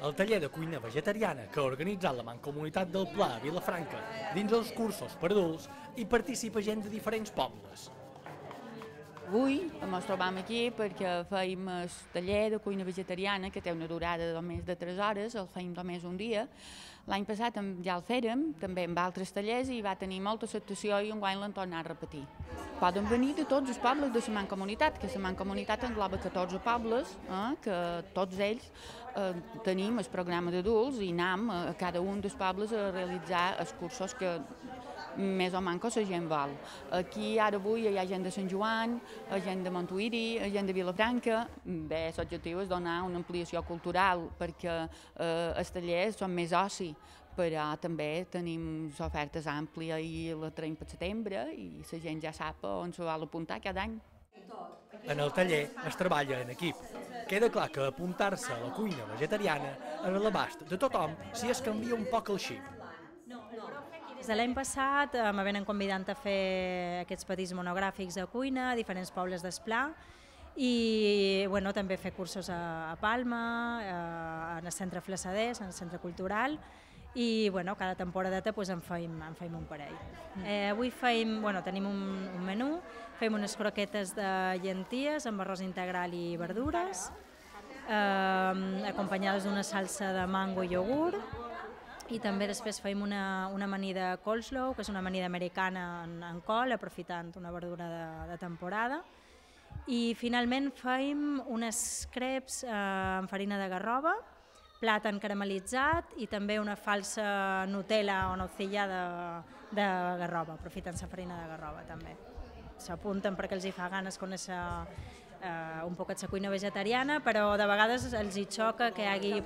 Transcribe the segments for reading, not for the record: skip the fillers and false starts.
El taller de cuina vegetariana que ha organitzat la Mancomunitat del Pla a Vilafranca dins els cursos per adults hi participa gent de diferents pobles. Avui ens trobam aquí perquè feim el taller de cuina vegetariana, que té una durada de més de 3 hores, el feim només un dia. L'any passat ja el fèrem, també amb altres tallers, i va tenir molta acceptació i enguany l'han tornat a repetir. Poden venir de tots els pobles de la Mancomunitat, que la Mancomunitat engloba 14 pobles, que tots ells tenim el programa d'adults i anem a cada un dels pobles a realitzar els cursos que més o menys la gent vol. Aquí ara avui hi ha gent de Sant Joan, gent de Montuïri, gent de Vilafranca. Bé, l'objectiu és donar una ampliació cultural perquè els tallers són més oci, però també tenim ofertes àmplies i la traiem per setembre i la gent ja sap on se vol apuntar cada any. En el taller es treballa en equip. Queda clar que apuntar-se a la cuina vegetariana és a l'abast de tothom si es canvia un poc el xip. Des de l'any passat m'havien convidat a fer aquests petits monogràfics de cuina a diferents pobles d'Esplà i també fer cursos a Palma, en el centre Flassaders, en el centre cultural, i cada temporadeta en feim un parell. Avui tenim un menú, fem unes croquetes de llenties amb arròs integral i verdures, acompanyades d'una salsa de mango i iogurt, i també després fem una amanida coleslaw, que és una amanida americana en col, aprofitant una verdura de temporada. I finalment fem unes creps amb farina de garrova, plàtan caramelitzat i també una falsa Nutella o nocilla de garrova, aprofitant la farina de garrova també. S'apunten perquè els hi fa ganes conèixer un poc la cuina vegetariana, però de vegades els hi xoca que hi hagi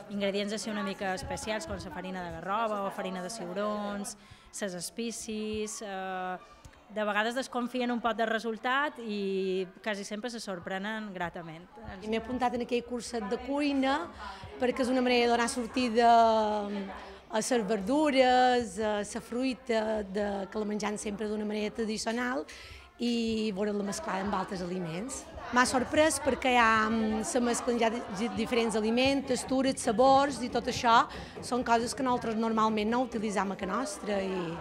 ingredients així una mica especials, com la farina de garrova o farina de ciurons, les espicis. De vegades desconfien un poc del resultat i quasi sempre se sorprenen gratament. M'he apuntat en aquell curset de cuina perquè és una manera de donar sortida a les verdures, a la fruita, que la mengem sempre d'una manera tradicional i veure-la mesclada amb altres aliments. M'ha sorprès perquè se mesclen ja diferents aliments, textures, sabors i tot això són coses que nosaltres normalment no utilitzem a casa nostra i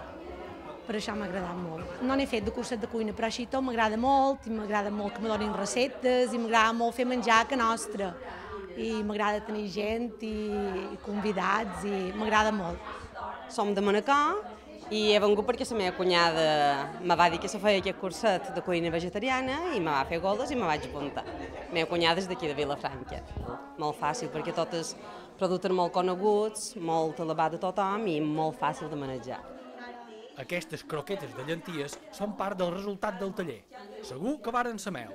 per això m'ha agradat molt. No n'he fet de curset de cuina, però així tot m'agrada molt i m'agrada molt que me donin receptes i m'agrada molt fer menjar a casa nostra i m'agrada tenir gent i convidats i m'agrada molt. Som de Manacor i he vengut perquè la meva cunyada me va dir que se feia aquest curset de cuina vegetariana i me va fer goles i me vaig apuntar. La meva cunyada és d'aquí de Vilafranca. Molt fàcil perquè tots els productes molt coneguts, molt elevat a tothom i molt fàcil de manejar. Aquestes croquetes de llenties són part del resultat del taller. Segur que varen sa mel.